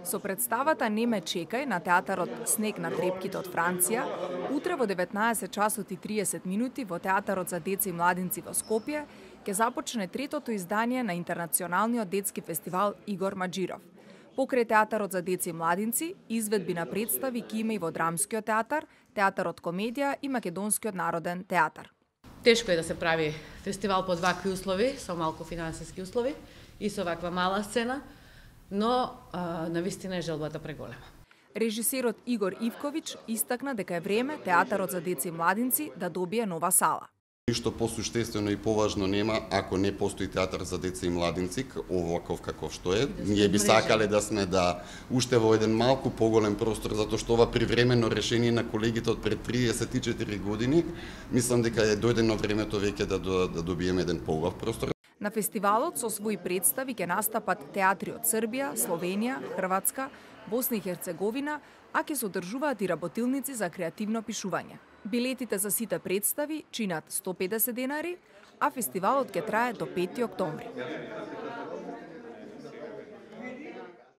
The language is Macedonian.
Со представата "Не ме чекај" на театарот "Снег на трепките" од Франција, утре во 19 часот и 30 минути во театарот за деца и младинци во Скопје ќе започне третото издание на интернационалниот детски фестивал Игор Маџиров. Покрај театарот за деца и младинци, изведби на представи ќе има и во Драмскиот театар, театарот Комедија и Македонскиот народен театар. Тешко е да се прави фестивал под вакви услови, со малку финансиски услови и со ваква мала сцена, но навистина е желбата преголема. Режисерот Игор Ивковиќ истакна дека е време театарот за деца и младинци да добие нова сала. Ништо посуштествено и поважно нема ако не постои театар за деца и младинци, оваков каков што е. Ние би сакале да сме уште во еден малку поголем простор, затоа што ова привремено решение на колегите од пред 34 години, мислам дека е дојдено времето веќе да добиеме еден поголем простор. На фестивалот со своји представи ќе настапат театри од Србија, Словенија, Хрватска, Босна и Херцеговина, а ќе се одржуваат и работилници за креативно пишување. Билетите за сите представи чинат 150 денари, а фестивалот ќе трае до 5 октомври.